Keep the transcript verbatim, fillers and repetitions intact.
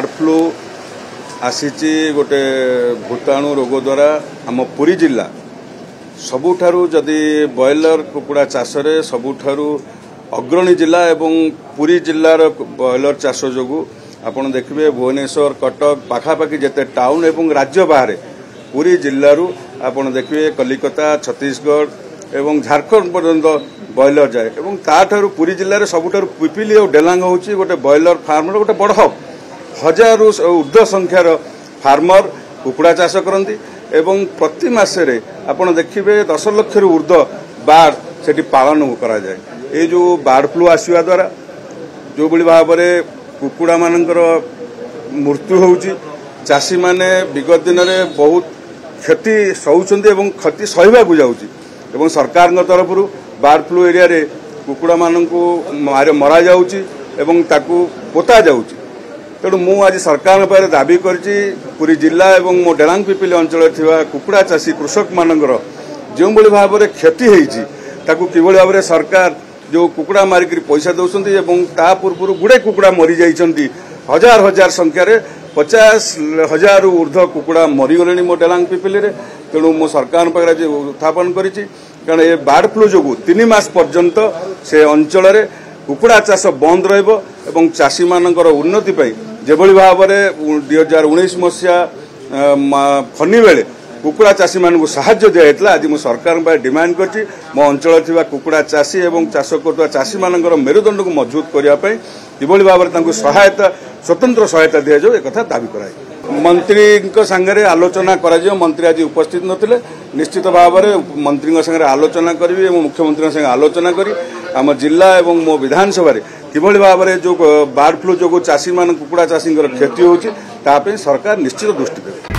bird flu ଆସିଛି ଗୋଟେ ଭୂତାଣୁ ରୋଗ ଦ୍ୱାରା ଆମ ପୁରୀ ଜିଲ୍ଲା ସବୁଠାରୁ ଯଦି ବ୍ରଏଲର କୁକୁଡ଼ା ଚାଷରେ ସବୁଠାରୁ ଅଗ୍ରଣୀ ଜିଲ୍ଲା ଏବଂ ପୁରୀ ଜିଲ୍ଲାର ବ୍ରଏଲର ଚାଷ ଯୋଗୁଁ ଆପଣ ଦେଖିବେ ଭୁବନେଶ୍ୱର କଟକ ପାଖାପାଖି ଯେତେ ଟାଉନ୍ ଏବଂ ରାଜ୍ୟ ବାହାରେ ପୁରୀ ଜିଲ୍ଲାରୁ ଆପଣ ଦେଖିବେ କଲିକତା ଛତିଶଗଡ଼ ଏବଂ ଝାଡ଼ଖଣ୍ଡ ପର୍ଯ୍ୟନ୍ତ ବ୍ରଏଲର ଯାଏ ଏବଂ ତାଠାରୁ ପୁରୀ ଜିଲ୍ଲାରେ ସବୁଠାରୁ ପିପିଲି ଆଉ ଡେଲାଙ୍ଗ ହେଉଛି ଗୋଟେ ବ୍ରଏଲର ଫାର୍ମର ଗୋଟେ ବଡ଼ ହବ୍ ହଜାରରୁ ଉର୍ଦ୍ଧ୍ୱ ସଂଖ୍ୟାର ଫାର୍ମର କୁକୁଡ଼ା ଚାଷ କରନ୍ତି ଏବଂ ପ୍ରତି ମାସରେ ଆପଣ ଦେଖିବେ ଦଶ ଲକ୍ଷରୁ ଉର୍ଦ୍ଧ୍ୱ ବାର୍ଡ ସେଠି ପାଳନ କରାଯାଏ ଏଇ ଯେଉଁ ବାର୍ଡ ଫ୍ଲୁ ଆସିବା ଦ୍ୱାରା ଯେଉଁଭଳି ଭାବରେ କୁକୁଡ଼ାମାନଙ୍କର ମୃତ୍ୟୁ ହେଉଛି ଚାଷୀମାନେ ବିଗତ ଦିନରେ ବହୁତ କ୍ଷତି ସହୁଛନ୍ତି ଏବଂ କ୍ଷତି ସହିବାକୁ ଯାଉଛି ଏବଂ ସରକାରଙ୍କ ତରଫରୁ ବାର୍ଡ ଫ୍ଲୁ ଏରିଆରେ କୁକୁଡ଼ାମାନଙ୍କୁ ମରାଯାଉଛି ଏବଂ ତାକୁ ପୋତା ଯାଉଛି ତେଣୁ ମୁଁ ଆଜି ସରକାରଙ୍କ ପାଖରେ ଦାବି କରିଛି ପୁରୀ ଜିଲ୍ଲା ଏବଂ ମୋ ଡେଲାଙ୍ଗ ପିପିଲି ଅଞ୍ଚଳରେ ଥିବା କୁକୁଡ଼ା ଚାଷୀ କୃଷକମାନଙ୍କର ଯେଉଁଭଳି ଭାବରେ କ୍ଷତି ହେଇଛି ତାକୁ କିଭଳି ଭାବରେ ସରକାର ଯେଉଁ କୁକୁଡ଼ା ମାରିକିରି ପଇସା ଦେଉଛନ୍ତି ଏବଂ ତା ପୂର୍ବରୁ ଗୁଡ଼େ କୁକୁଡ଼ା ମରିଯାଇଛନ୍ତି ହଜାର ହଜାର ସଂଖ୍ୟାରେ ପଚାଶ ହଜାରରୁ ଉର୍ଦ୍ଧ୍ୱ କୁକୁଡ଼ା ମରିଗଲେଣି ମୋ ଡେଲାଙ୍ଗ ପିପିଲିରେ ତେଣୁ ମୁଁ ସରକାରଙ୍କ ପାଖରେ ଆଜି ଉତ୍ଥାପନ କରିଛି କାରଣ ଏ ବାର୍ଡ ଫ୍ଲୁ ଯୋଗୁଁ ତିନି ମାସ ପର୍ଯ୍ୟନ୍ତ ସେ ଅଞ୍ଚଳରେ କୁକୁଡ଼ା ଚାଷ ବନ୍ଦ ରହିବ ଏବଂ ଚାଷୀମାନଙ୍କର ଉନ୍ନତି ପାଇଁ ଯେଭଳି ଭାବରେ ଦୁଇ ହଜାର ଉଣେଇଶ ମସିହା ଫନି ବେଳେ କୁକୁଡ଼ା ଚାଷୀମାନଙ୍କୁ ସାହାଯ୍ୟ ଦିଆଯାଇଥିଲା ଆଜି ମୁଁ ସରକାରଙ୍କ ପାଖରେ ଡିମାଣ୍ଡ କରିଛି ମୋ ଅଞ୍ଚଳରେ ଥିବା କୁକୁଡ଼ା ଚାଷୀ ଏବଂ ଚାଷ କରୁଥିବା ଚାଷୀମାନଙ୍କର ମେରୁଦଣ୍ଡକୁ ମଜବୁତ କରିବା ପାଇଁ କିଭଳି ଭାବରେ ତାଙ୍କୁ ସହାୟତା ସ୍ୱତନ୍ତ୍ର ସହାୟତା ଦିଆଯାଉ ଏକଥା ଦାବି କରାଯାଇଛି ମନ୍ତ୍ରୀଙ୍କ ସାଙ୍ଗରେ ଆଲୋଚନା କରାଯିବ ମନ୍ତ୍ରୀ ଆଜି ଉପସ୍ଥିତ ନଥିଲେ ନିଶ୍ଚିତ ଭାବରେ ମନ୍ତ୍ରୀଙ୍କ ସାଙ୍ଗରେ ଆଲୋଚନା କରିବି ଏବଂ ମୁଖ୍ୟମନ୍ତ୍ରୀଙ୍କ ସାଙ୍ଗେ ଆଲୋଚନା କରି ଆମ ଜିଲ୍ଲା ଏବଂ ମୋ ବିଧାନସଭାରେ କିଭଳି ଭାବରେ ଯେଉଁ ବାର୍ଡ ଫ୍ଲୁ ଯୋଗୁଁ ଚାଷୀମାନ କୁକୁଡ଼ା ଚାଷୀଙ୍କର କ୍ଷତି ହେଉଛି ତା ପାଇଁ ସରକାର ନିଶ୍ଚିତ ଦୃଷ୍ଟି ଦେବେ